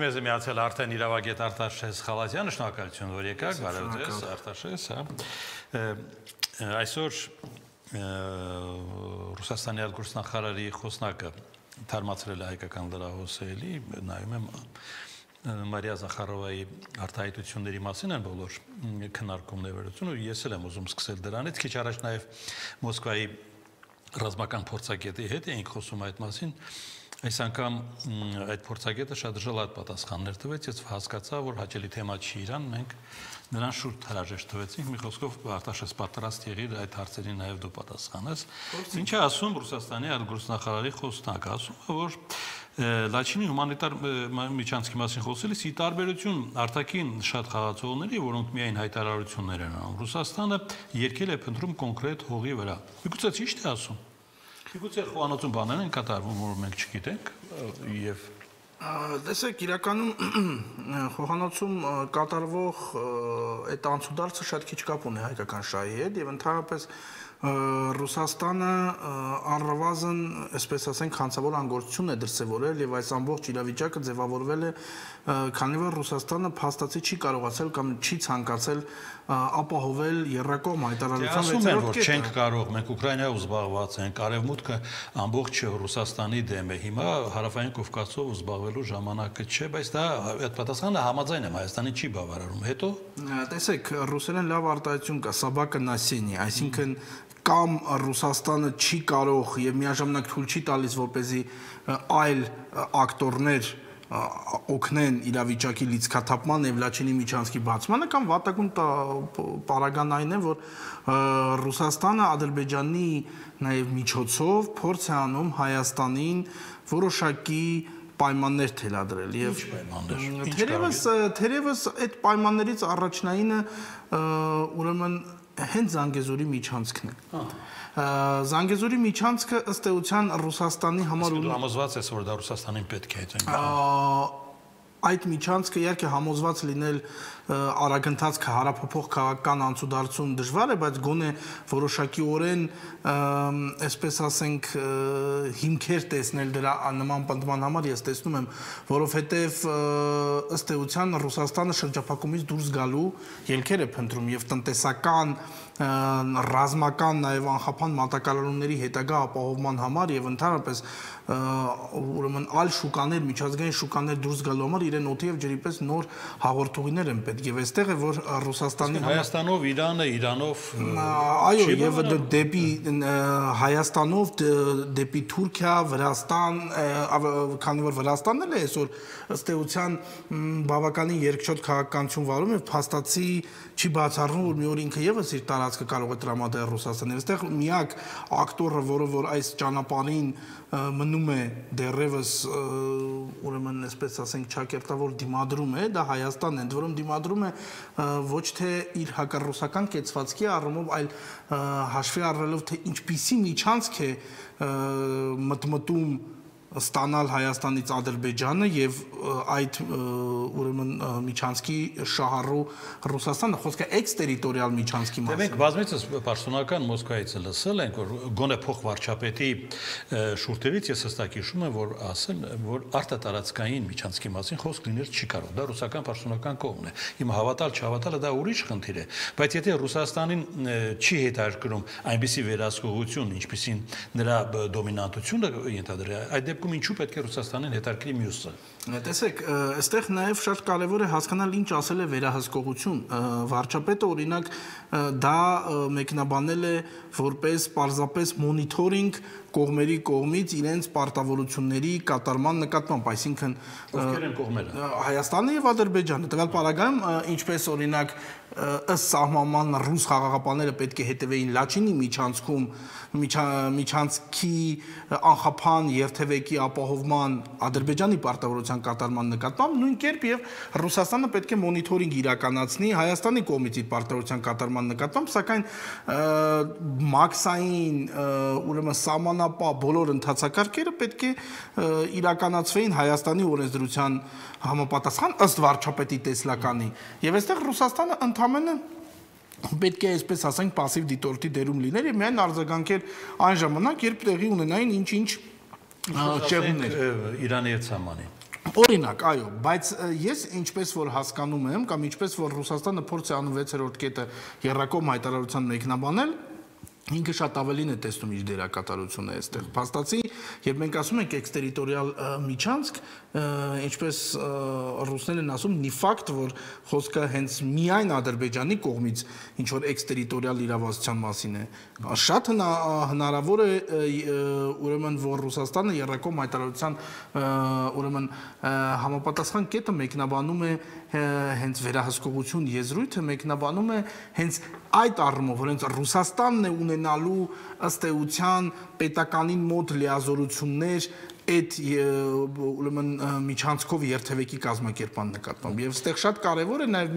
մեզ միացել արդեն իրավագետ Արտաշես Խալաթյանը, շնորհակալություն, որ եկաք, բարև ձեզ, Արտաշես, այսօր Ռուսաստանի արտգործնախարարի խոսնակը թարմացրել է հայկական լրահոսելի, նայում եմ Մարիա Զախարովայի արտահայտությունների մասին են բոլոր քննարկումները, ես էլ եմ ուզում սկսել դրանից, քիչ առաջ նաև Մոսկվայի ռազմական փորձագետի հետ էինք խոսում այդ մասին. Այս անգամ այդ փորձագետը շատ ժլատ պատասխաններ տվեց, ես հասկացա, որ հաճելի թեմա չի իրան, մենք նրան շուրջ հրաժեշտ տվեցինք, մի խոսքով Արտաշես պատրաստ եղիր այդ հարցերին նաև դու պատասխանես։ Ինչ է ասում Ռուսաստանի արտգործնախարարի խոսնակը, ասում է, որ Լաչինի հումանիտար միջանցքի մասին խոսելիս ի տարբերություն արտաքին շատ խաղացողների, որոնք միայն հայտարարություններ են անում, Ռուսաստանը երկել է փնտրում կոնկրետ հողի վրա։ Միգուցե ճիշտ է ասում։ Միգուցե խոհանոցում բաներ են կատարվում, որ մենք չգիտենք եւ տեսեք, իրականում խոհանոցում կատարվող այդ անցուդարձը շատ քիչ կապ ունի հայկական շահի հետ եւ ընդհանրապես Ռուսաստանը առնվազն, այսպես ասենք, հանցավոր անգործություն է դրսևորել եւ այս ամբողջ իրավիճակը ձևավորվել է, քանի որ Ռուսաստանը փաստացի չի կարողացել կամ չի ցանկացել ապահովել երրակողմ հայտարարության վեցերորդ կետը։ Չենք կարող, մենք Ուկրաինայով զբաղված ենք, արևմուտքը ամբողջ Ռուսաստանի դեմ է։ Հիմա հարավային Կովկասով զբաղվելու ժամանակը չէ, բայց դա այդ պատասխանը համաձայն եմ, Հայաստանի չի բավարարում։ Հետո տեսեք, ռուսերեն լավ արտահայտություն կա, սաբակը նասենի, այսինքն կամ Ռուսաստանը չի կարող եւ միաժամանակ թույլ չի տալիս, որպեսզի այլ ակտորներ օգնեն իրավիճակի լիցքաթափման եւ Լաչինի միջանցքի բացմանը, կամ վատագույն պարագան այն է, որ Ռուսաստանը Ադրբեջանի նաեւ միջոցով փորձ է անում Հայաստանին որոշակի պայմաններ թելադրել եւ թերևս այդ պայմաններից առաջնայինը ուրեմն հենց Զանգեզուրի միջանցքն է։ Զանգեզուրի միջանցքը ըստ էության Ռուսաստանի համար Դու համոզված ես, որ դա Ռուսաստանին պետք է այդ այդ միջանցքը իհարկե համոզված լինել արագընթաց հարաբերող քաղաքական անցուդարձում դժվար է, բայց գոնե որոշակիորեն, այսպես ասենք, հիմքեր տեսնել դրա նման պնդման համար ես տեսնում եմ, որովհետև ըստ էության Ռուսաստանը շրջափակումից դուրս գալու ելքեր է փնտրում եւ տնտեսական ռազմական նաև անխափան մատակարարումների հետագա ապահովման համար եւ ընդհանրապես ուրեմն այլ շուկաներ, միջազգային շուկաներ դուրս գալու համար իրեն օդի եւ ջրի պես նոր հաղորդողիներ են պետք եւ այստեղ է որ Ռուսաստանի Հայաստանով Իրանը, Իրանով այո եւ դեպի Հայաստանով դեպի Թուրքիա, Վրաստան, քանի որ Վրաստանն էլ է այսօր ըստ էության բավականին երկչոտ քաղաքականություն վարում եւ փաստացի չի բացառվում որ մի օր ինքը եւս իր տարածքը կարող է տրամադրել Ռուսաստանին։ Այստեղ միակ ակտորը, որը որ այս ճանապարհին մնում է դեռևս ուրեմն այսպես ասենք ճակերտավոր դիմադրում է, դա Հայաստանն է, ընդ որում դիմադրում է ոչ թե իր հակառուսական կեցվածքի առումով, այլ հաշվի առնելով թե ինչպիսի միջանցք է մտմտում ստանալ Հայաստանից Ադրբեջանը եւ այդ ուրեմն միջանցքի շահառու Ռուսաստանը, խոսքը էքստերիտորիալ միջանցքի մասին։ Մենք բազմիցս պաշտոնական Մոսկվայից լսել ենք, որ գոնե փոխվարչապետի շուրթերից ես հստակ հիշում եմ, որ ասել, որ արտատարածքային միջանցքի մասին խոսք լինել չի կարող, դա ռուսական պաշտոնական կողմն է։ Հիմա հավատալ չհավատալը դա ուրիշ խնդիր է, բայց եթե Ռուսաստանին չի հետաքրքրում այնպիսի վերահսկողություն, ինչպիսին նրա դոմինանտությունը ենթադրել, այդ ինչու պետք է Ռուսաստանին հետաքրքրի մյուսը։ Տեսեք, այստեղ նաև շատ կարևոր է հասկանալ ինչ ասել է վերահսկողություն։ Վարչապետը օրինակ դա մեկնաբանել է որպես պարզապես մոնիթորինգ կողմերի կողմից իրենց պարտավորությունների կատարման նկատմամբ, այսինքն ովքեր են կողմերը։ Հայաստանը եւ Ադրբեջանը։ Տվյալ պարագայում ինչպես օրինակ ըստ սահմանման ռուս խաղաղապահները պետք է հետևեին Լաչինի միջանցքում միջանցքի անխափան երթևեկի ապահովման Ադրբեջանի պարտավորության կատարման նկատմամբ, նույն կերպ եւ Ռուսաստանը պետք է մոնիթորինգ իրականացնի Հայաստանի կողմից իր պարտավորության կատարման նկատմամբ, սակայն մաքսային ուրեմն սահմանապահ բոլոր ընթացակարգերը պետք է իրականացվեին Հայաստանի օրենսդրության համապատասխան ըստ վարչապետի տեսլականի եւ այստեղ Ռուսաստանը ընդամենը պետք է այսպես ասենք пассив դիտորդի դերում լիներ եւ միայն արձագանքեր այն ժամանակ երբ տեղի ունենային ինչ-ինչ ճեղումներ Իրանի հետ սահմանին Օրինակ, այո, բայց ես ինչպես որ հասկանում եմ, կամ ինչպես որ Ռուսաստանը փորձ է անում 6-րդ կետը եռակողմ հայտարարության մեկնաբանել, ինքը շատ ավելին է տեսնում իր դերակատարությունը այստեղ։ Փաստացի, երբ մենք ասում ենք էքստերիտորիալ միջանցք, ինչպես ռուսներն են ասում, նի ֆակտ, որ խոսքը հենց միայն Ադրբեջանի կողմից ինչ որ էքստերիտորիալ իրավասության մասին է, շատ հնարավոր է ուրեմն որ Ռուսաստանը եռակողմ հայտարարության ուրեմն համապատասխան կետը մեկնաբանում է հենց վերահսկողություն եզրույթը մեկնաբանում է հենց այդ առումով, որ հենց Ռուսաստանն է ունենալու ըստ էության պետականին մոտ լիազորություններ այդ ուրեմն միջանցքով երթևեկի կազմակերպման նկատմամբ եւ այստեղ շատ կարեւոր է նաեւ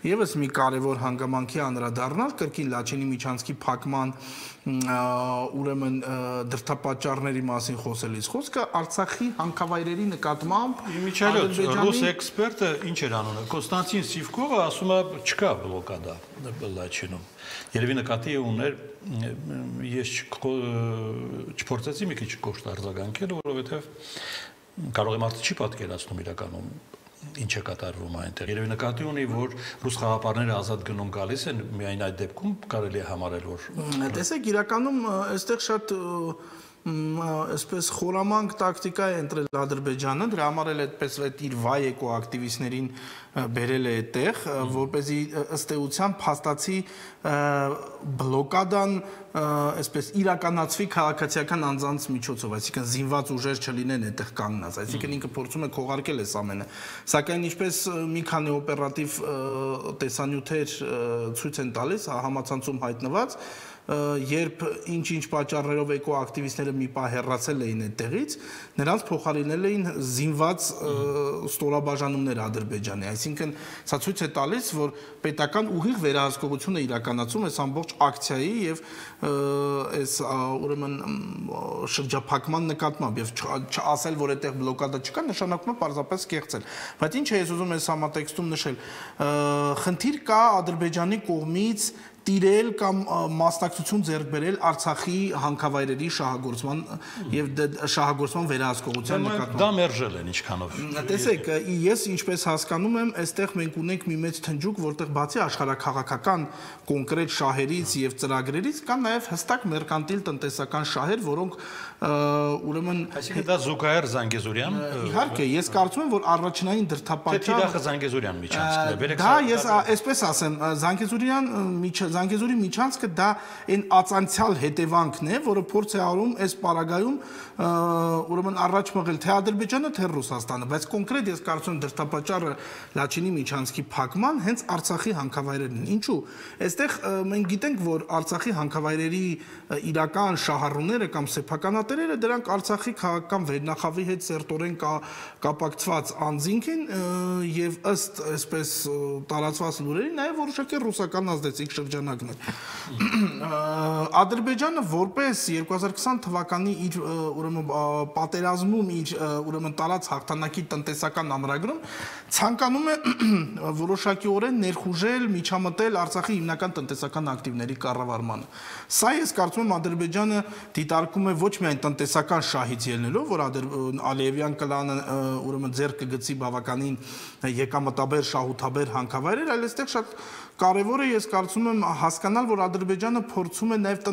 եւս մի կարեւոր հանգամանքի անդրադառնալ կրկին Լաչինի միջանցքի փակման ուրեմն դրդապատճառների մասին խոսելիս խոսքը Արցախի հանքավայրերի նկատմամբ Միչելոց ռուս էքսպերտը ինչ էր անում Կոնստանտին Սիվկովը ասում է չկա բլոկադա Լաչինում Երևի նկատի ուներ ես չփորձեցի մի քիչ կոշտ արձագանքել որովհետեւ կարող եմ արդյոք չի պատկերացնում իրականում ինչ է կատարվում այնտեղ երևի նկատի ունի որ ռուս խաղապարները ազատ գնում գալիս են միայն այդ դեպքում կարելի է համարել որ տեսեք իրականում այստեղ շատ այսպես խորամանկ տակտիկա է ընտրել Ադրբեջանը դրա համար էլ այդպես այդ իր վայեկո ակտիվիստներին բերել է այդտեղ որպեսզի ըստ էության փաստացի բլոկադան այսպես իրականացվի քաղաքացիական անձանց միջոցով այսինքն զինված ուժեր չլինեն այդտեղ կանգնած այսինքն ինքը փորձում է քողարկել այս ամենը սակայն ինչպես մի քանի օպերատիվ տեսանյութեր ցույց են տալիս համացանցում հայտնված երբ ինչ-ինչ պատճառներով էկո ակտիվիստները մի պահ հեռացել էին այդտեղից, նրանց փոխարինել էին զինված ստորաբաժանումներ Ադրբեջանի, այսինքն սա ցույց է տալիս, որ պետական ուղիղ վերահսկողությունը իրականացում այս ամբողջ ակցիայի եւ այս ուրեմն շրջափակման նկատմամբ եւ չասել, որ այդտեղ բլոկադա չկա, նշանակում է պարզապես կեղծել։ Բայց ինչ է ես ուզում այս համատեքստում նշել, խնդիր կա Ադրբեջանի կողմից տիրել կամ մասնակցություն ձեռք բերել Արցախի հանքավայրերի շահագործման եւ շահագործման վերահսկողության նկատմամբ։ Դա մերժել են ինչքանով։ Տեսեք, ես ինչպես հասկանում եմ, այստեղ մենք ունենք մի մեծ թնջուկ, որտեղ բացի աշխարհաքաղաքական կոնկրետ շահերից եւ ծրագրերից կան նաեւ հստակ մերկանտիլ տնտեսական շահեր, որոնք ուրեմն այսինքն դա Զուգայր Զանգեզուրյան իհարկե ես կարծում եմ որ առաջնային դրդապատճառը Թիրախը Զանգեզուրյան միջանցքն է դա ես այսպես ասեմ Զանգեզուրի միջանցքը դա այն ածանցյալ հետևանքն է որը փորձ է արում այս պարագայում ուրեմն առաջ մղել թե Ադրբեջանը թե Ռուսաստանը բայց կոնկրետ ես կարծում եմ դրդապատճառը Լաչինի միջանցքի փակման հենց Արցախի հանքավայրերն են ինչու այստեղ մենք գիտենք որ Արցախի հանքավայրերի իրական շահառուները կամ սեփականատերերը դրանք Արցախի քաղաքական վերնախավի հետ սերտորեն կապակցված անձինք են եւ ըստ այսպես տարածված լուրերի նաեւ որոշակի ռուսական ազդեցիկ շրջանակն է Ադրբեջանը որպես 2020 թվականի իր ուրեմն պատերազմում իր ուրեմն տարած հաղթանակի տնտեսական ամրագրում ցանկանում է որոշակիորեն ներխուժել միջամտել Արցախի հիմնական տնտեսական ակտիվների կառավարմանը սա ես կարծում եմ Ադրբեջանը դիտարկում է ոչ միայն տնտեսական շահից ելնելով որ Ալիևյան կլանը ուրեմն ձեռք կգցի բավականին եկամտաբեր շահութաբեր հանքավայրեր այլ այստեղ շատ կարևոր է ես կարծում եմ հասկանալ որ Ադրբեջանը փորձում է նաև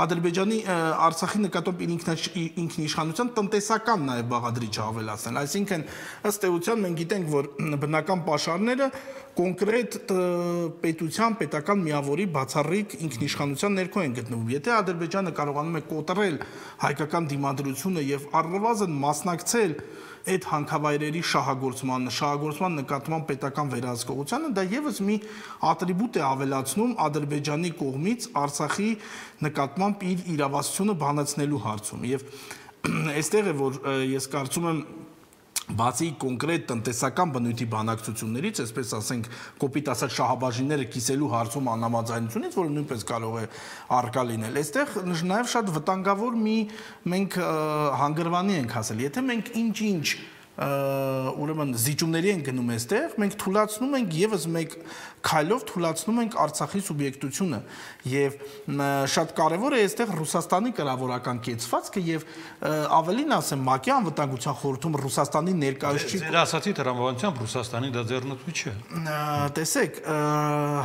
Ադրբեջանի Արցախի նկատմամբ ինքնիշխանության տնտեսական նաև բաղադրիչը ավելացնել այսինքն ըստ էության մենք գիտենք որ բնական պաշարները կոնկրետ պետության պետական միավորի բացառիկ ինքնիշխանության ներքո են գտնվում եթե Ադրբեջանը կարողանում է կոտրել հայկական դիմադրությունը եւ առնվազն մասնակցել այդ հանքավայրերի շահագործման նկատմամբ պետական վերահսկողությանը դա եւս մի ատրիբուտ է ավելացնում Ադրբեջանի կողմից Արցախի նկատմամբ իր իրավասությունը բանացնելու հարցում եւ այստեղ է որ ես կարծում եմ բացի կոնկրետ տնտեսական բնույթի բանակցություններից, այսպես ասենք, կոպիտ ասած շահաբաժինները կիսելու հարցում անհամաձայնությունից, որը նույնպես կարող է առկա լինել։ Այստեղ նաև շատ վտանգավոր մի մենք հանգրվանի ենք հասել։ Եթե մենք ինչ-ինչ ուրեմն զիջումների են գնում այստեղ, մենք թույլատնում ենք եւս մեկ քայլով թույլատնում ենք Արցախի սուբյեկտությունը եւ շատ կարեւոր է այստեղ Ռուսաստանի կրավորական կեցվածքը եւ ավելին ասեմ ՄԱԿ-ի անվտանգության խորհրդում Ռուսաստանի ներկայացուցիչ Ձեր ասացի տրամաբանությամբ Ռուսաստանի դա ձեռնտու չէ։ Տեսեք,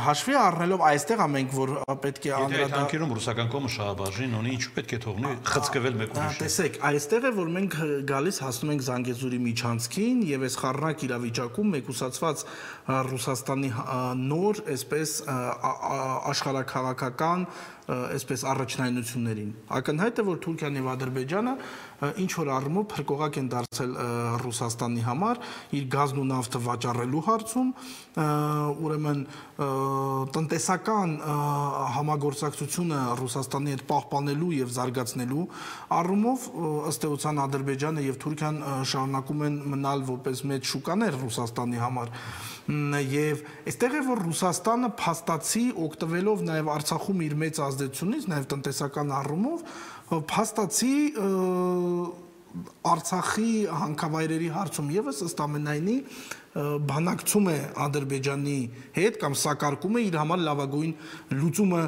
հաշվի առնելով այստեղ ամենք որ պետք է անդրադառնալ ռուսական կողմը շահաբաժին ունի, ինչու պետք է թողնի խցկվել մեկ ուրիշ։ Տեսեք, այստեղ է որ մենք գալիս հասնում ենք Զանգեզուրի միջանցքին եւ այս խառնակ իրավիճակում մեկուսացված Ռուսաստանի նոր այսպես աշխարհաքաղաքական այսպես առաջնայնություններին։ Ակնհայտ է որ Թուրքիան եւ Ադրբեջանը ինչ որ առումով փրկողակ են դարձել Ռուսաստանի համար իր գազն ու նավթը վաճառելու հարցում, ուրեմն տնտեսական համագործակցությունը Ռուսաստանի հետ պահպանելու եւ զարգացնելու առումով ըստ էության Ադրբեջանը եւ Թուրքիան շարունակում են մնալ որպես մեծ շուկաներ Ռուսաստանի համար եւ այստեղ է որ Ռուսաստանը փաստացի օգտվելով նաեւ Արցախում իր մեծ ազդեցությունից նաեւ տնտեսական առումով փաստացի Արցախի հանքավայրերի հարցում եւս ըստ ամենայնի բանակցում է Ադրբեջանի հետ կամ սակարկում է իր համար լավագույն լուծումը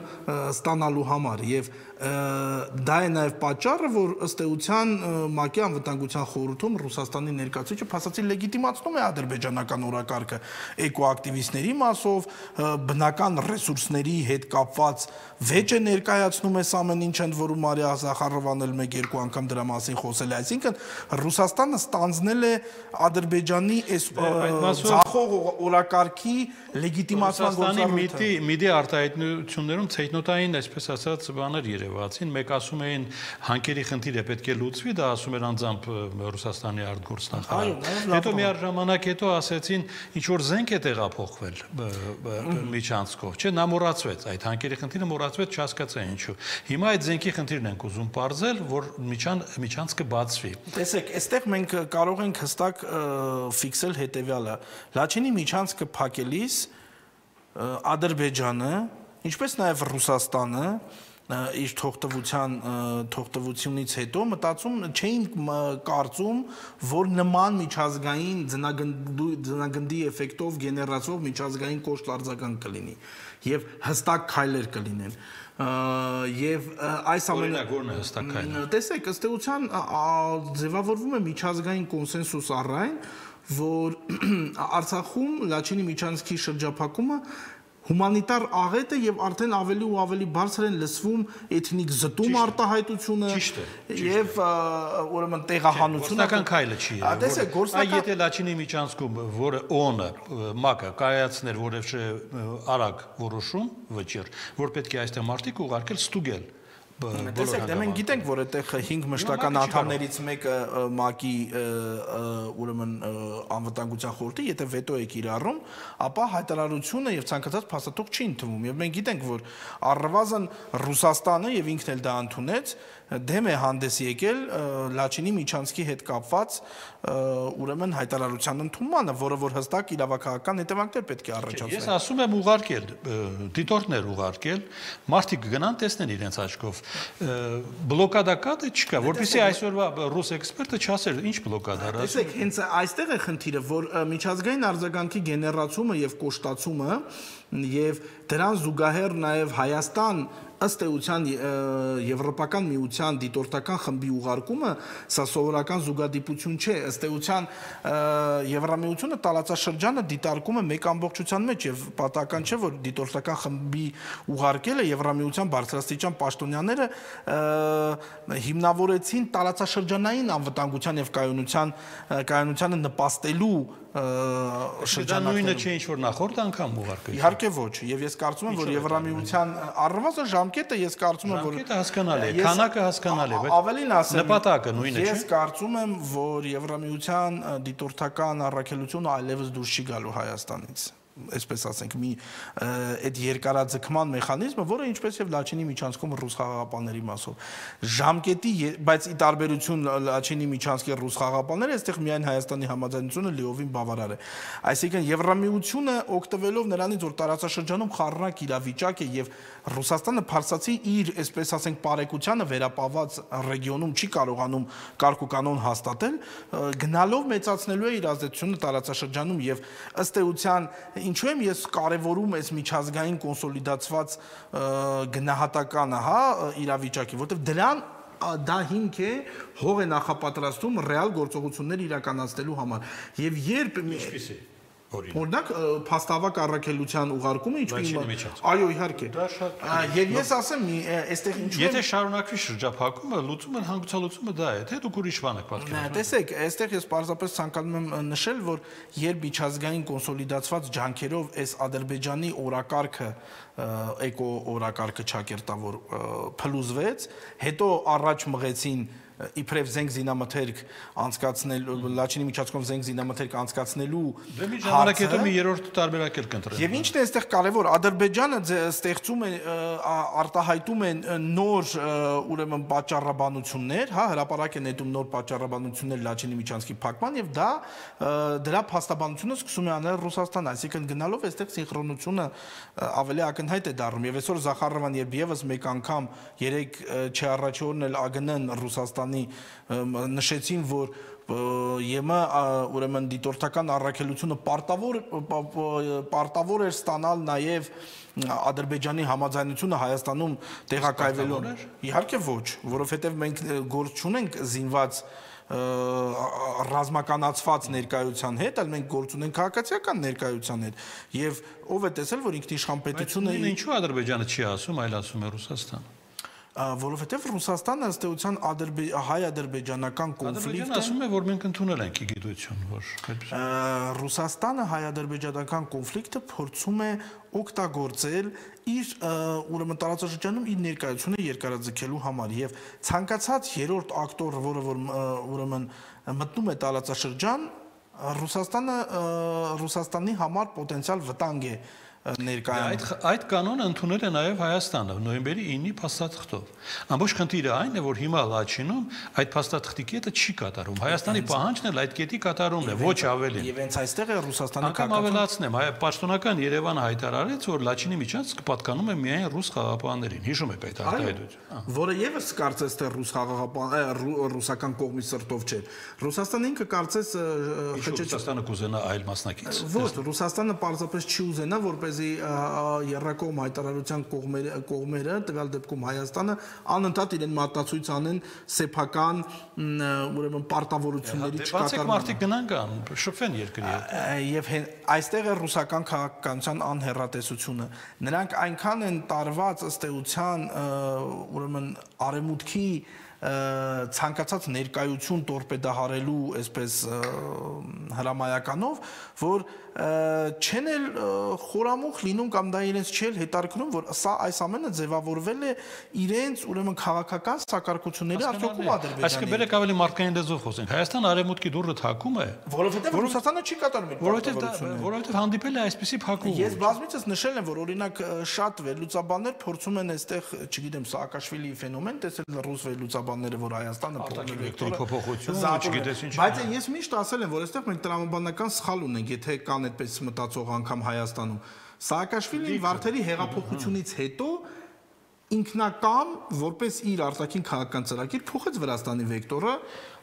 ստանալու համար եւ դա է նաեւ պատճառը որ ըստ էության ՄԱԿ-ի անվտանգության խորհրդում Ռուսաստանի ներկայացուցիչը փաստացի լեգիտիմացնում է ադրբեջանական օրակարգը էկոակտիվիստների մասով բնական ռեսուրսների հետ կապված վեճ է ներկայացնում այս ամեն ինչ ընդ որում Մարիա Զախարովան էլ 1-2 անգամ դրա մասին խոսել է այսինքն Ռուսաստանը ստանձնել է Ադրբեջանի այս Զախող օրակարգի լեգիտիմացման գործառույթը միդի արտահայտություններում ցեյտնոտային այսպես ասած բաներ երևացին մեկ ասում էին հանքերի խնդիրը պետք է լուծվի դա ասում էր անձամբ Ռուսաստանի արտգործնախարարը հետո միաժամանակ հետո ասեցին ինչ որ զենք է տեղափոխվել միջանցքով չէ նա մոռացվեց այդ հանքերի խնդիրը մոռացվեց չհասկացա ինչու հիմա այդ զենքի խնդիրն ենք ուզում բարձել որ միջանցքը բացվի տեսեք այստեղ մենք կարող ենք հստակ ֆիքսել հետեւյալը Լաչինի միջանցքը փակելիս Ադրբեջանը ինչպես նաև Ռուսաստանը իր թողտվությունից հետո մտածում չէին կարծում որ նման միջազգային ձնագնդի էֆեկտով գեներացող միջազգային կոշտ արձագանք կլինի եւ հստակ քայլեր կլինեն եւ այս ամենագորն է հստակ քայլը տեսեք ըստ էության ձևավորվում է միջազգային կոնսենսուս առայն որ Արցախում Լաչինի միջանցքի շրջափակումը հումանիտար աղետ է եւ արդեն ավելի ու ավելի բարձր են լսվում էթնիկ զտում արտահայտությունը եւ ուրեմն տեղահանությունը գործնական քայլը չի տեսեք գործնական եթե Լաչինի միջանցքում որը ՕՕՆ-ը ՄԱԿ-ը կայացներ որևէ արագ որոշում վճիռ որ պետք է այստեղ մարդիկ ուղարկել ստուգել Տեսեք, դե մենք գիտենք, որ այդտեղ 5 մշտական անդամներից մեկը ՄԱԿ-ի ուրեմն անվտանգության խորհրդի, եթե վետո է կիրառում, ապա հայտարարությունը եւ ցանկացած փաստաթուղթ չի ընդունվում։ Եվ մենք գիտենք, որ առնվազն Ռուսաստանը եւ ինքն էլ դա ընդունեց, դեմ է հանդես եկել Լաչինի միջանցքի հետ կապված ուրեմն հայտարարության ընդունմանը, որը որ հստակ իրավական հետևանքներ պետք է առաջացնի։ Ես ասում եմ ուղարկել, դիտորդներ ուղարկել, մարդիկ գնան տեսնեն իրենց աչքով։ Բլոկադա կա թե չկա, որպեսզի այսօրվա ռուս էքսպերտը չասեր, ինչ բլոկադա է։ Տեսեք, հենց այստեղ է խնդիրը, որ միջազգային արձագանքի գեներացումը եւ կոշտացումը եւ դրան զուգահեռ նաեւ Հայաստան ըստ էության Եվրոպական միության դիտորդական խմբի ուղարկումը սա սովորական զուգադիպություն չէ ըստ էության Եվրամիությունը տարածաշրջանը դիտարկում է մեկ ամբողջության մեջ եւ պատահական չէ որ դիտորդական խմբի ուղարկելը Եվրամիության բարձրաստիճան պաշտոնյաները հիմնավորեցին տարածաշրջանային անվտանգության եւ կայունությանը նպաստելու շրջանները նույնը չէ ինչ որ նախորդ անգամ ուղարկել իհարկե ոչ եւ ես կարծում եմ որ Եվրամիության առնվազն ժամկետը ես կարծում եմ որ ժամկետը հասկանալի է քանակը հասկանալի է բայց ավելին ասեմ նպատակը նույնը չէ ես կարծում եմ որ Եվրամիության դիտորդական առաքելությունը այլևս դուրս չի գալու Հայաստանից այսպես ասենք, մի այդ երկարաձգման մեխանիզմը, որը ինչպես եւ Լաչինի միջանցքում ռուս խաղաղապահների մասով ժամկետի, բայց ի տարբերություն Լաչինի միջանցքի ռուս խաղաղապահները, այստեղ միայն Հայաստանի համաձայնությունը լիովին բավարար է։ Այսինքն Եվրամիությունը օգտվելով նրանից, որ տարածաշրջանում խառնակ իրավիճակ է եւ Ռուսաստանը փարսացի իր, այսպես ասենք, բարեկությանը վերապահված ռեգիոնում չի կարողանում կարգ ու կանոն հաստատել, գնալով մեծացնելու է իր ազդեցությունը տարածաշրջանում եւ ըստ էության ինչու եմ ես կարևորում այս միջազգային կոնսոլիդացված գնահատականը, հա, իրավիճակի, որտեղ դրան դա հիմք է հող է նախապատրաստում ռեալ գործողություններ իրականացնելու համար եւ երբ Ինչպիսի օրինակ փաստավակ առաքելության ուղարկումը այո իհարկե եւ ես ասեմ այստեղ ինչու եթե շարունակվի շրջափակումը լուծումը հանգուցալուծումը դա է թե դուք ուրիշ բան եք պատկերացնում տեսեք այստեղ ես պարզապես ցանկանում եմ նշել որ երբ միջազգային կոնսոլիդացված ջանքերով այս Ադրբեջանի օրակարգը էկո օրակարգը ճակերտավոր փլուզվեց հետո առաջ մղեցին իբրև զենք զինամթերք անցկացնելու Լաչինի միջանցքում զենք զինամթերք անցկացնելու ժամանակ հետո մի երրորդ տարբերակ էլ կընտրեն եւ ինչն է այստեղ կարեւոր Ադրբեջանը ստեղծում է արտահայտում է նոր ուրեմն պատճառաբանություններ հա հրապարակ է նետում նոր պատճառաբանություններ Լաչինի միջանցքի փակման եւ դա դրա փաստաբանությունը սկսում է անել Ռուսաստանը այսինքն գնալով այստեղ սինխրոնությունը ավելի ակնհայտ է դառնում եւ այսօր Զախարովան երբ եւս մեկ անգամ 3 չառաջի օրն էլ ԱԳՆ-ն Ռուսաստանի նշեցին, որ ԵՄ ուրեմն դիտորդական առաքելությունը պարտավոր էր ստանալ նաև Ադրբեջանի համաձայնությունը Հայաստանում տեղակայվելու։ Իհարկե ոչ, որովհետև մենք գործ չունենք զինված ռազմականացված ներկայության հետ, այլ մենք գործ ունենք քաղաքացիական ներկայության հետ։ Եվ ով է տեսել, որ ինքնիշխան պետությունը ինչու Ադրբեջանը չի ասում, այլ ասում է Ռուսաստանը։ Որովհետև Ռուսաստանը ըստ էության հայ-ադրբեջանական կոնֆլիկտը ասում է, որ մենք ընդունել ենք գիտություն, որ Ռուսաստանը հայ-ադրբեջանական կոնֆլիկտը փորձում է օգտագործել իր ուրեմն տարածաշրջանում իր ներկայությունը երկարաձգելու համար եւ ցանկացած երրորդ ակտոր, որը որ ուրեմն մտնում է տարածաշրջան, Ռուսաստանի համար պոտենցիալ վտանգ է Այդ կանոնը ընդունել է նաև Հայաստանը նոյեմբերի 9-ի փաստաթղթով։ Ամբողջ խնդիրը այն է, որ հիմա Լաչինում այդ փաստաթղթի կետը չի կատարում։ Հայաստանի պահանջն էլ այդ կետի կատարումն է, ոչ ավելին։ Եվ հենց այստեղ է Ռուսաստանի անգամ ավելացնեմ, պաշտոնական Երևանը հայտարարեց, որ Լաչինի միջանցքը պատկանում է միայն ռուս խաղաղապահներին։ Հիշում եք այդ արտահայտությունը։ Որը եւս կարծես թե ռուսական կողմի սրտով չէ։ Ռուսաստանը ինքը կարծես Ռուսաստանը կուզենա այլ մասնակից։ Ոչ, Ռուսաստանը պարզապես չի ուզենա, որպես երրակողմ հայտարարության կողմերը, տվյալ դեպքում Հայաստանը անընդհատ իրեն մատնացույց անեն սեփական ուրեմն պարտավորությունների չկատարման։ Մարդիկ գնան կան, շփվեն երկրի հետ։ Եվ այստեղ է ռուսական քաղաքականության անհեռատեսությունը։ Նրանք այնքան են տարված ըստ էության ուրեմն արևմուտքի ցանկացած ներկայություն տորպեդահարելու այսպես հրամայականով, որ չեն էլ խորամուխ լինում կամ դա իրենց չել հետարկնում, որ սա այս ամենը ձևավորվել է իրենց ուրեմն քաղաքական սակարկությունների արդյունքում Ադրբեջանի։ Այսինքն բերեք ավելի մարդկային լեզվով խոսենք։ Հայաստանը արևմուտքի դուռը թակում է, որովհետև Ռուսաստանը չի կատարում իր պարտավորությունները։ Որովհետև հանդիպել է այսպիսի փակուղ։ Ես բազմիցս նշել եմ, որ օրինակ շատ վերլուծաբաններ փորձում են այստեղ, չգիտեմ, Սաակաշվիլիի ֆենոմեն տեսել ռուս վերլուծաբանները, որ Հայաստանը փոփոխություն, չգիտես ինչ։ Բայց ես միշտ ասել եմ, որ այստեղ մենք տրամաբանական սխալ ունենք, եթե կան այդպես մտածող անգամ Հայաստանում։ Սաակաշվիլին Վարդերի հեղափոխությունից հետո ինքնակամ որպես իր արտաքին քաղաքական ծրագիր փոխեց Վրաստանի վեկտորը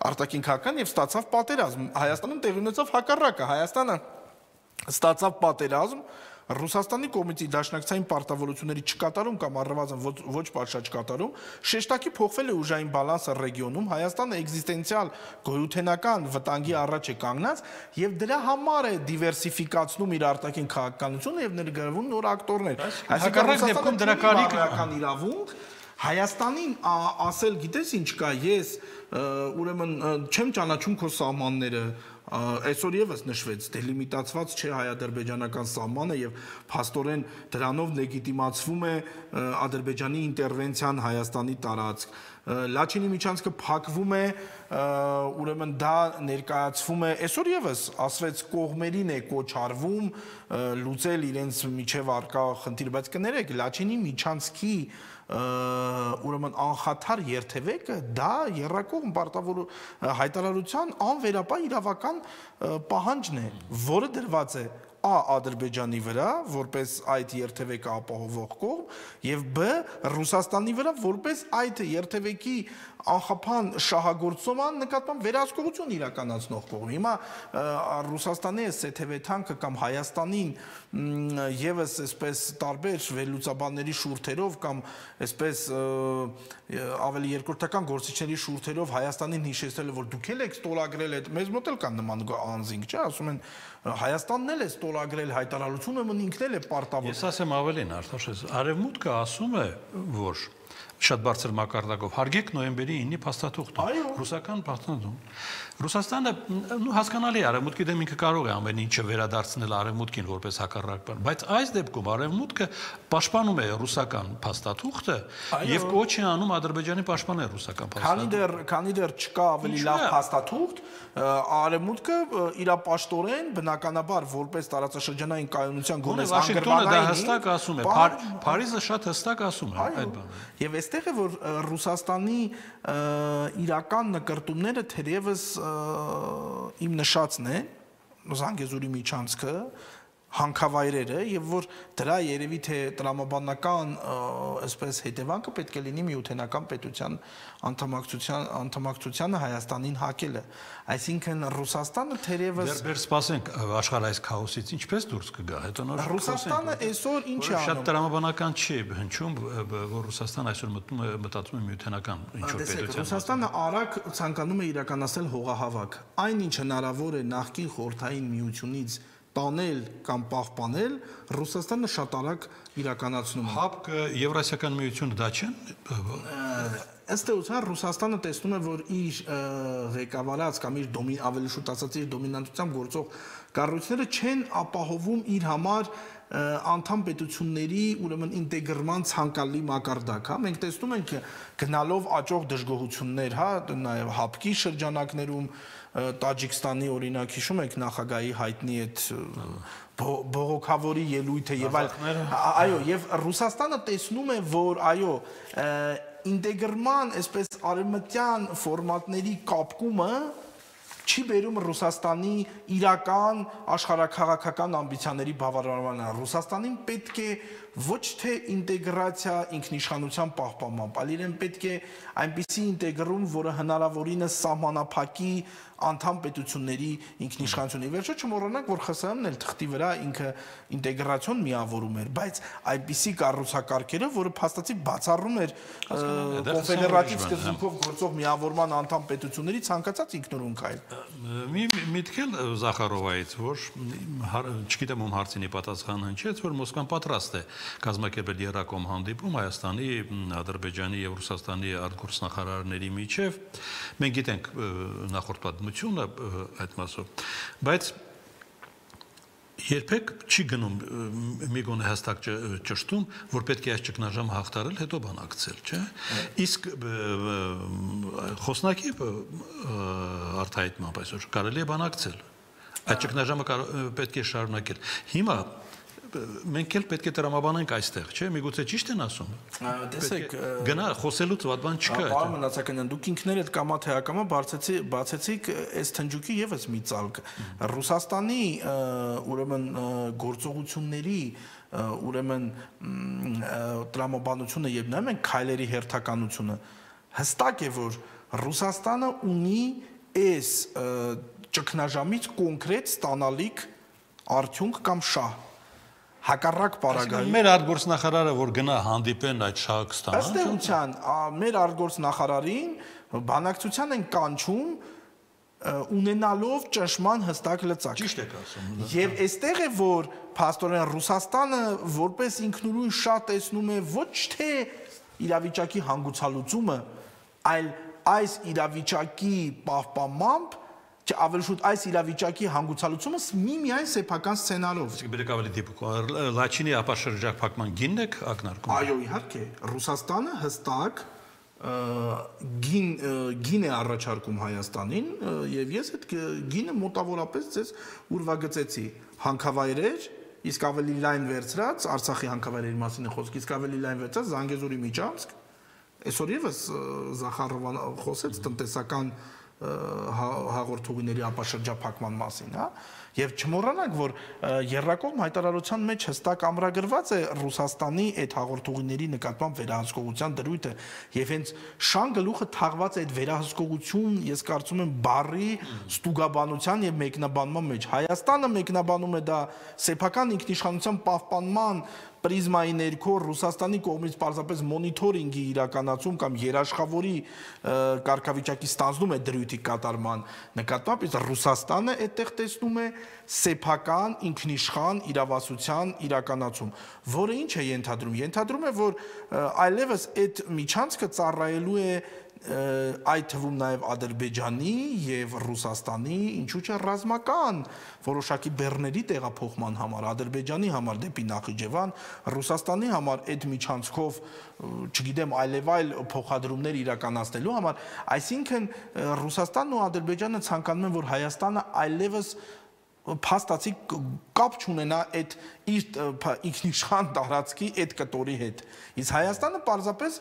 արտաքին քաղաքական եւ ստացավ պատերազմ։ Հայաստանում տեղի ունեցավ հակառակը։ Հայաստանը ստացավ պատերազմ Ռուսաստանի կողմից դաշնակցային պարտավորությունների չկատարում կամ առնվազն ոչ պատշաճ կատարում, շեշտակի փոխվել է ուժային բալանսը ռեգիոնում, Հայաստանը էկզիստենցիալ գոյութենական վտանգի առաջ է կանգնած եւ դրա համար է դիվերսիֆիկացնում իր արտաքին քաղաքականությունը եւ ներգրավում նոր ակտորներ։ Այսինքն դեպքում դրա կարիքը իրավունք Հայաստանին ասել գիտես ինչ կա, ես ուրեմն չեմ ճանաչում քո սահմանները, այսօր եւս նշվեց դելիմիտացված չէ հայ-ադրբեջանական սահմանը եւ փաստորեն դրանով լեգիտիմացվում է Ադրբեջանի ինտերվենցիան Հայաստանի տարածք։ Լաչինի միջանցքը փակվում է, ուրեմն դա ներկայացվում է, այսօր եւս ասվեց կողմերին է կոչարվում լուծել իրենց միջև արկա խնդիր, բայց կներեք Լաչինի միջանցքի ուրեմն անխաթար երթևեկը դա երրակողմ պարտավոր հայտարարության անվերապահ իրավական պահանջն է, որը դրված է Ադրբեջանի վրա որպես այդ երթևեկը ապահովող կողմ եւ բ Ռուսաստանի վրա որպես այդ երթևեկի անխափան շահագործման նկատմամբ վերահսկողություն իրականացնող կողմ։ Հիմա Ռուսաստանի սեթևեթանքը կամ Հայաստանին եւս այսպես տարբեր վերլուծաբանների շուրթերով կամ այսպես ավելի երկրորդական գործիչների շուրթերով Հայաստանին հիշեցրել որ դուք եք ստորագրել այդ մեզ մոտ էլ կան նման անձինք, չէ, ասում են Հայաստանն էլ է ստորագրել հայտարարությունը, ինքն էլ է պարտավոր։ Ես ասեմ ավելին, Արտաշես, Արևմուտքը ասում է, որ շատ բարձր մակարդակով հարգեք նոյեմբերի 9-ի փաստաթուղթը։ Ռուսական փաստաթուղթ։ Ռուսաստանը հասկանալի է, Արևմուտքի դեմ ինքը կարող է ամեն ինչը վերադարձնել Արևմուտքին որպես հակառակ բան, բայց այս դեպքում Արևմուտքը պաշտպանում է ռուսական փաստաթուղթը եւ կոչ է անում Ադրբեջանի պաշտպանել ռուսական փաստաթուղթը։ Քանի դեռ չկա ավելի լավ փաստաթուղթ, Արևմուտքը իրապաշտորեն բնականաբար որպես տարածաշրջանային կայունության գոնես Վաշինգտոնը դա հստակ ասում է, Փարիզը շատ հստակ ասում է այդ բանը։ Եվ այստեղ է որ Ռուսաստանի իրական նկարտումները թերևս իմ նշածն է Զանգեզուրի միջանցքը հանքավայրերը եւ որ դրա երևի թե տրամաբանական այսպես հետևանքը պետք է լինի միութենական պետության անդամակցությանը Հայաստանին հակելը այսինքն Ռուսաստանը թերևս դեռ սպասենք աշխարհայց քաոսից ինչպես դուրս կգա հետո նոր Ռուսաստանը այսօր ինչ է անում շատ տրամաբանական չի հնչում որ Ռուսաստանը այսօր մտածում է միութենական ինչ որ պետության Ռուսաստանը արագ ցանկանում է իրականացնել հողահավաք այն ինչ հնարավոր է նախկին խորհրդային միությունից տանել կամ պահպանել Ռուսաստանը շատ արագ իրականացնում է։ ՀԱՊԿ Եվրասիական միությունը դա չեն։ Ըստ էության Ռուսաստանը տեսնում է, որ իր ղեկավարած կամ իր ավելի շուտ ասած իր դոմինանտությամբ գործող կառույցները չեն ապահովում իր համար անդամ պետությունների ուրեմն ինտեգրման ցանկալի մակարդակ, հա մենք տեսնում ենք գնալով աճող դժգոհություններ, հա նաև ՀԱՊԿ-ի շրջանակներում Տաջիկստանի օրինակ հիշում եք նախագահի հայտնի այդ բողոքավորի ելույթը եւ այո եւ Ռուսաստանը տեսնում է որ այո ինտեգրման այսպես արևմտյան ֆորմատների կապկումը չի բերում Ռուսաստանի իրական աշխարհաքաղաքական ամբիցիաների բավարարմանը Ռուսաստանին պետք է ոչ թե ինտեգրացիա ինքնիշխանության պահպանմամբ, այլ իրեն պետք է այնպիսի ինտեգրում, որը հնարավորինս սահմանափակի անդամ պետությունների ինքնիշխանությունը։ Վերջը չմոռանանք, որ ԽՍՀՄ-ն էլ թղթի վրա ինքը ինտեգրացիոն միավորում էր, բայց այդպիսի կառուցակարգերը, որը փաստացի բացառում էր կոնֆեդերատիվ սկզբունքով գործող միավորման անդամ պետությունների ցանկացած ինքնուրույն քայլ։ Մի միտքել Զախարովայից, որ չգիտեմ ում հարցինի պատասխան հնչեց, որ Մոսկվան պատրաստ է կազմակերպել երրակողմ հանդիպում Հայաստանի, Ադրբեջանի եւ Ռուսաստանի արտգործնախարարների միջև։ Մենք գիտենք նախորդ պատմությունը այդ մասով, բայց երբեք չի գնում մի գոնե հստակ ճշտում, որ պետք է այս ճգնաժամը հաղթարել, հետո բանակցել, չէ՞։ Իսկ խոսնակի արտահայտմամբ այսօր կարելի է բանակցել։ Այդ ճգնաժամը պետք է շարունակել։ Հիմա մենք էլ պետք է տրամաբանենք այստեղ, չէ՞, միգուցե ճիշտ են ասում։ Տեսեք, գնա խոսելուց վատ բան չկա։ Պարոն Մնացականյան, դուք ինքներդ կամա թե ակամա բացեցիք այս թնջուկի եւս մի ծալք։ Ռուսաստանի ուրեմն գործողությունների ուրեմն տրամաբանությունը եւ նայում ենք քայլերի հերթականությունը հստակ է որ Ռուսաստանը ունի այս ճգնաժամից կոնկրետ ստանալիք արդյունք կամ շահ հակառակ պարագայում մեր արտգործնախարարը որ գնա հանդիպեն այդ շահը կստանա ըստ էության մեր արտգործնախարարին բանակցության են կանչում ունենալով ճնշման հստակ լծակ ճիշտ եք ասում եւ այստեղ է որ փաստորեն Ռուսաստանը որպես ինքնուրույն շատ տեսնում է ոչ թե իրավիճակի հանգուցալուծումը, այլ այս իրավիճակի պահպանմամբ, չէ, ավելի շուտ այս իրավիճակի հանգուցալուծումը միայն սեփական սցենարով։ Բերեք ավելի դիպուկ։ Լաչինի ապաշրջակ փակման գինն եք ակնարկում։ Այո, իհարկե, Ռուսաստանը հստակ գին է առաջարկում Հայաստանին, եւ ես այդ գինը մոտավորապես ձեզ ուրվագծեցի հանքավայրեր, իսկ ավելի լայն վերցրած Արցախի հանքավայրերի մասին է խոսքը, իսկ ավելի լայն վերցրած Զանգեզուրի միջանցք, այսօր եւս Զախարովան խոսեց տնտեսական հաղորդողների ապաշրջափակման մասին, հա, եւ չմոռանանք, որ Եռակողմ հայտարարության մեջ հստակ ամրագրված է Ռուսաստանի այդ հաղորդողների նկատմամբ վերահսկողության դրույթը, եւ հենց շան գլուխը թաղված է այդ վերահսկողություն, ես կարծում եմ, բառի ստուգաբանության եւ մեկնաբանման մեջ։ Հայաստանը մեկնաբանում է դա սեփական ինքնիշխանության պահպանման պրիզմայի ներքո Ռուսաստանի կողմից պարզապես մոնիթորինգի իրականացում կամ երաշխավորի կարգավիճակի ստանձնում է դրույթի կատարման նկատմամբ, իսկ Ռուսաստանը այդտեղ տեսնում է սեփական ինքնիշխան իրավասության իրականացում, որը ինչ է ենթադրում։ Ենթադրում է, որ այլևս այդ միջանցքը ծառայելու է այդ թվում նաև Ադրբեջանի եւ Ռուսաստանի, ինչու՞ չէ ռազմական որոշակի բեռների տեղափոխման համար, Ադրբեջանի համար դեպի Նախիջևան, Ռուսաստանի համար այդ միջանցքով, չգիտեմ, այլևայլ փոխադրումներ իրականացնելու համար, այսինքն Ռուսաստանն ու Ադրբեջանը ցանկանում են, որ Հայաստանը այլևս փաստացի կապ չունենա այդ իր ինքնիշխան տարածքի այդ կտորի հետ։ Իսկ Հայաստանը պարզապես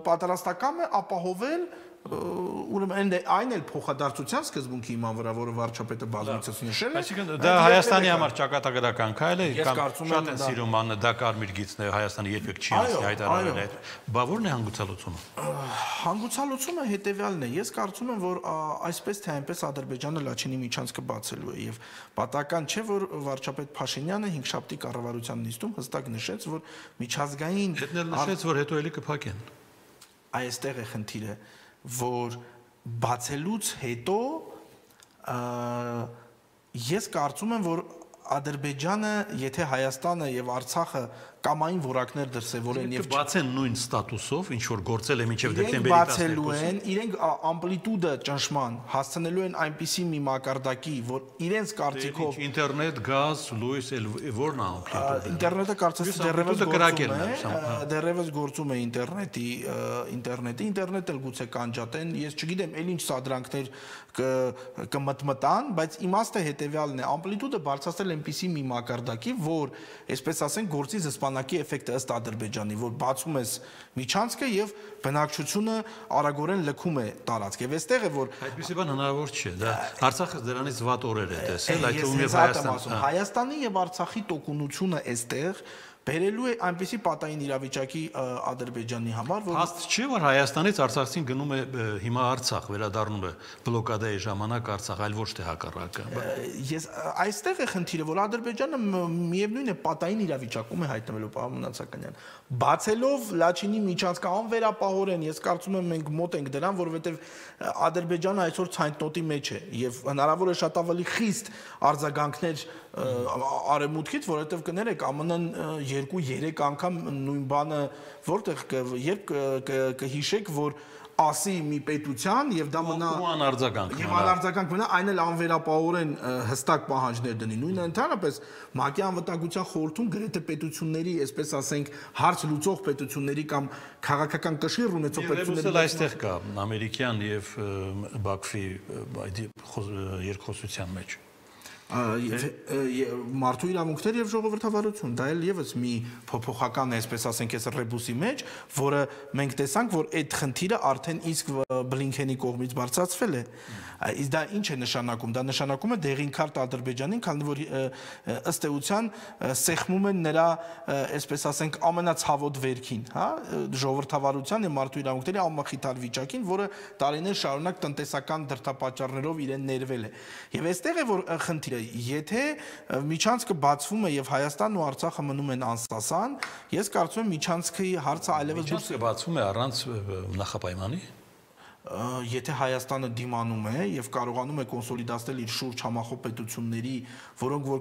պատրաստական է ապահովել ուրեմն այն էլ փոխադարձության սկզբունքի հիման վրա, որը վարչապետը բազմիցս նշել է։ Այսինքն դա Հայաստանի համար ճակատագրական քայլ է, կամ շատ են սիրում անը դա կարմիր գիծն է, Հայաստանը երբեք չի ասի հայտարարել այդ։ Բա ո՞րն է հանգուցալուծումը։ Հանգուցալուծումը հետեւյալն է։ Ես կարծում եմ, որ այսպես թե այնպես Ադրբեջանը Լաչինի միջանցքը բացելու է եւ պատահական չէ, որ վարչապետ Փաշինյանը 5-շաբթի կառավարության նիստում հստակ նշեց, որ միջազգային հետնել նշեց, որ հետո էլի կփակեն։ Այստեղ է խնդիրը, որ բացելուց հետո ես կարծում եմ, որ Ադրբեջանը, եթե Հայաստանը եւ Արցախը կամային որակներ դրսևորեն եւ բացեն նույն ստատուսով, ինչ որ գործել է մինչեւ դեկտեմբերի 12-ը, բացելու են, իրենք ամպլիտուդը ճնշման հասցնելու են այնպիսի մի մակարդակի, որ իրենց կարծիքով ինտերնետ, գազ, լույս, որն է ամպլիտուդը։ Ինտերնետը կարծես դեռևս գործում է ինտերնետը գուցե կանջատեն, ես չգիտեմ, էլ ինչ սադրանքներ կմտմտան, բայց իմաստը հետեւյալն է, ամպլիտուդը բարձրացնել այնպիսի մի մակարդակի, որ, այսպես ասենք, գործի զսպանակի էֆեկտը ըստ Ադրբեջանի, որ բացում ես միջանցքը եւ բնակչությունը արագորեն լքում է տարածք։ Եվ այստեղ է, որ այդպիսի բան հնարավոր չէ, դա Արցախը դրանից վատ օրեր է տեսել, այդ թվում եւ Հայաստանի եւ Արցախի տոկունությունը այստեղ բերելու է այնպիսի պատային իրավիճակի Ադրբեջանի համար, որ հաստ չէ, որ Հայաստանից Արցախցին գնում է հիմա Արցախ, վերադառնում է բլոկադայի ժամանակ Արցախ, այլ ոչ թե հակառակը։ Ես այստեղ է խնդիրը, որ Ադրբեջանը միևնույն է պատային իրավիճակում է հայտնվելու, պարոն Մնացականյան։ Բացելով Լաչինի միջանցքը անվերապահորեն, ես կարծում եմ մենք մոտ ենք դրան, որովհետև Ադրբեջանը այսօր ցայտնոտի մեջ է եւ հնարավոր է շատ ավելի խիստ արձագանքներ արևմուտքից, որովհետև կներեք ԱՄՆ-ն 2-3 անգամ նույն բանը որտեղ երբ կհիշեք, որ ասի մի պետության եւ դա մնա անարձագանք մնա, այն էլ անվերապահորեն հստակ պահանջներ դնի։ Նույնը ընդհանրապես ՄԱԿ-ի անվտանգության խորհրդում գրեթե պետությունների, այսպես ասենք, հարց լուծող պետությունների կամ քաղաքական կշիռ ունեցող պետությունների այստեղ կա ամերիկյան եւ Բաքվի երկխոսության մեջ մարդու իրավունքներ եւ ժողովրդավարություն, դա էլ եւս մի փոփոխական է, այսպես ասենք, այս ռեբուսի մեջ, որը մենք տեսանք, որ այդ խնդիրը արդեն իսկ Բլինքենի կողմից բարձրացվել է։ Իսկ դա ինչ է նշանակում։ Դա նշանակում է դեղին քարտ Ադրբեջանին, քանի որ ըստ էության սեղմում են նրա, այսպես ասենք, ամենացավոտ վերքին, հա, ժողովրդավարության եւ մարդու իրավունքների անմխիթար վիճակին, որը տարիներ շարունակ տնտեսական դրդապատճառներով իրեն ներվել է։ Եվ այստեղ է որ խնդիրը, եթե միջանցքը բացվում է եւ Հայաստանն ու Արցախը մնում են անսասան, ես կարծում եմ միջանցքի հարցը այլևս բացվում է առանց նախապայմանի։ եթե Հայաստանը դիմանում է եւ կարողանում է կոնսոլիդացնել իր շուրջ համախոհ պետությունների, որոնք որ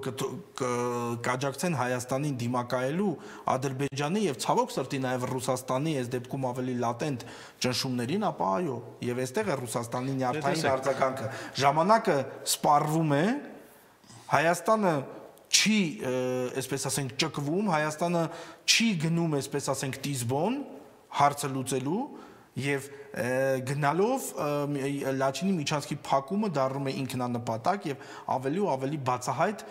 կաջակցեն Հայաստանին դիմակայելու Ադրբեջանի եւ ցավոք սրտի նաեւ Ռուսաստանի այս դեպքում ավելի լատենտ ճնշումներին, ապա այո, եւ այստեղ է Ռուսաստանի նյարդային արձագանքը։ Ժամանակը սպառվում է, Հայաստանը չի, այսպես ասենք, ճկվում, Հայաստանը չի գնում, այսպես ասենք, տիզբոն հարցը լուծելու եւ գնալով Լաչինի միջանցքի փակումը դառնում է ինքնանպատակ եւ ավելի ու ավելի բացահայտ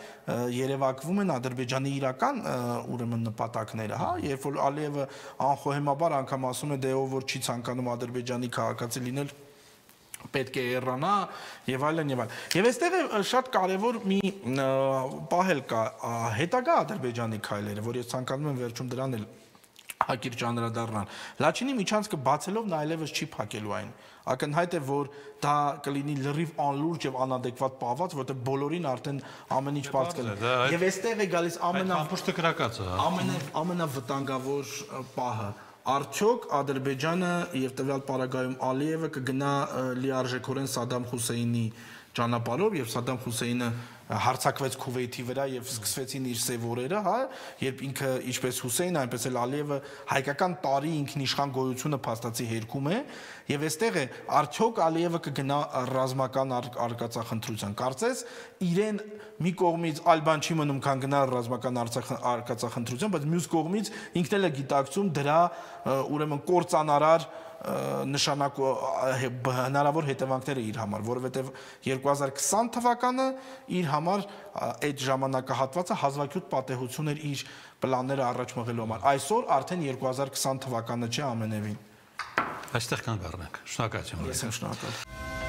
երևակվում են Ադրբեջանի իրական ուրեմն նպատակները, հա, երբ որ Ալիևը անխոհեմաբար անգամ ասում է դե ով որ չի ցանկանում Ադրբեջանի քաղաքացի լինել պետք է հեռանա եւ այլն եւ այլն։ Եվ այստեղ է շատ կարեւոր մի պահել կա հետագա Ադրբեջանի քայլերը, որ ես ցանկանում եմ վերջում դրան էլ հակիրճ անդրադառնալ։ Լաչինի միջանցքը բացելով նա այլևս չի փակելու այն։ Ակնհայտ է, որ դա կլինի լրիվ անլուրջ եւ անադեկվատ պահված, որտեղ բոլորին արդեն ամեն ինչ բաց կլինի։ Եվ այստեղ է գալիս ամենավտանգավոր պահը։ Արդյոք Ադրբեջանը եւ տվյալ պարագայում Ալիևը կգնա լիարժեքորեն Սադամ Հուսեյնի ճանապարհով եւ Սադամ Հուսեյնը հարցակվեց Քուվեյթի վրա եւ սկսվեցին իր սև օրերը, հա, երբ ինքը ինչպես Հուսեյնը, այնպես էլ Ալիևը հայկական տարի ինքնիշխան գոյությունը փաստացի հերքում է եւ այստեղ է արդյոք Ալիևը կգնա ռազմական արկածախնդրության։ Կարծես իրեն մի կողմից այլ բան չի մնում, քան գնալ ռազմական արկածախնդրության, բայց մյուս կողմից ինքն էլ է գիտակցում դրա ուրեմն կործանարար հնարավոր հետևանքները իր համար, որովհետև 2020 թվականը իր համար այդ ժամանակահատվածը հազվագյուտ պատեհություն էր իր պլանները առաջ մղելու համար։ Այսօր արդեն 2020 թվականը չէ ամենևին։ Այստեղ կանգ առնենք։ Շնորհակալություն։ Ես եմ շնորհակալ։